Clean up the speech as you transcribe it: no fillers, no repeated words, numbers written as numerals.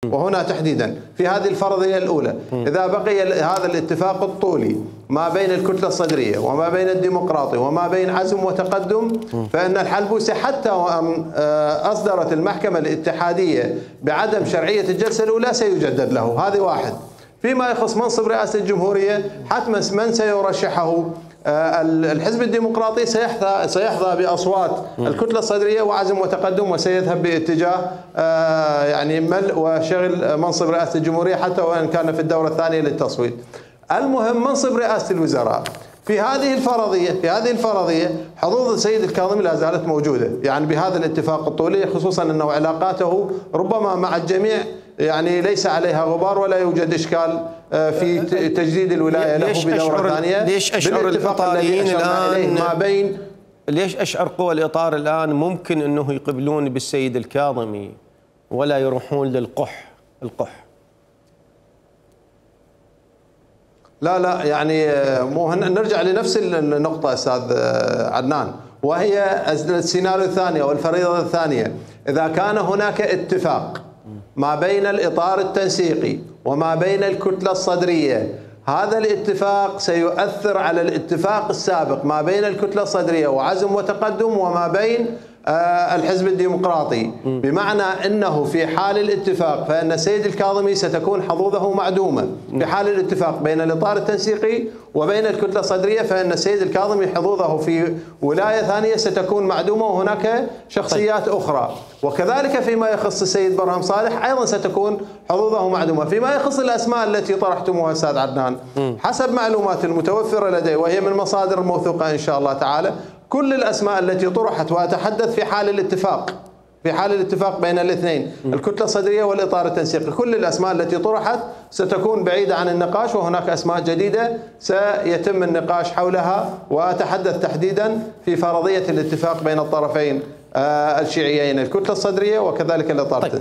وهنا تحديدا في هذه الفرضية الأولى إذا بقي هذا الاتفاق الطولي ما بين الكتلة الصدرية وما بين الديمقراطي وما بين عزم وتقدم، فإن الحلبوسي حتى وأن أصدرت المحكمة الاتحادية بعدم شرعية الجلسة الأولى سيجدد له. هذه واحد. فيما يخص منصب رئاسة الجمهورية حتما من سيرشحه الحزب الديمقراطي سيحظى بأصوات الكتلة الصدرية وعزم وتقدم، وسيذهب باتجاه يعني ملء وشغل منصب رئاسة الجمهورية حتى وإن كان في الدورة الثانية للتصويت. المهم منصب رئاسة الوزراء في هذه الفرضية حظوظ السيد الكاظمي لا زالت موجودة، يعني بهذا الاتفاق الطولي، خصوصا أنه علاقاته ربما مع الجميع يعني ليس عليها غبار ولا يوجد إشكال في تجديد الولاية له بدورة ثانية. ليش أشعر الإطاريين الآن ما بين ليش أشعر قوى الإطار الآن ممكن أنه يقبلون بالسيد الكاظمي ولا يروحون للقح؟ لا يعني مو نرجع لنفس النقطة أستاذ عدنان، وهي السيناريو الثاني أو الفريضة الثانية. إذا كان هناك اتفاق ما بين الإطار التنسيقي وما بين الكتلة الصدرية، هذا الاتفاق سيؤثر على الاتفاق السابق ما بين الكتلة الصدرية وعزم وتقدم وما بين الحزب الديمقراطي، بمعنى أنه في حال الاتفاق فإن السيد الكاظمي ستكون حظوظه معدومة. في حال الاتفاق بين الإطار التنسيقي وبين الكتلة الصدرية فإن السيد الكاظمي حظوظه في ولاية ثانية ستكون معدومة وهناك شخصيات أخرى. وكذلك فيما يخص السيد برهم صالح أيضا ستكون حظوظه معدومة. فيما يخص الأسماء التي طرحتموها أستاذ عدنان، حسب معلومات المتوفرة لدي وهي من مصادر موثوقة إن شاء الله تعالى، كل الأسماء التي طرحت، وأتحدث في حال الاتفاق بين الاثنين الكتلة الصدرية والإطار التنسيقي، كل الأسماء التي طرحت ستكون بعيدة عن النقاش، وهناك أسماء جديدة سيتم النقاش حولها. وأتحدث تحديدا في فرضية الاتفاق بين الطرفين الشيعيين، الكتلة الصدرية وكذلك الإطار التنسيقي.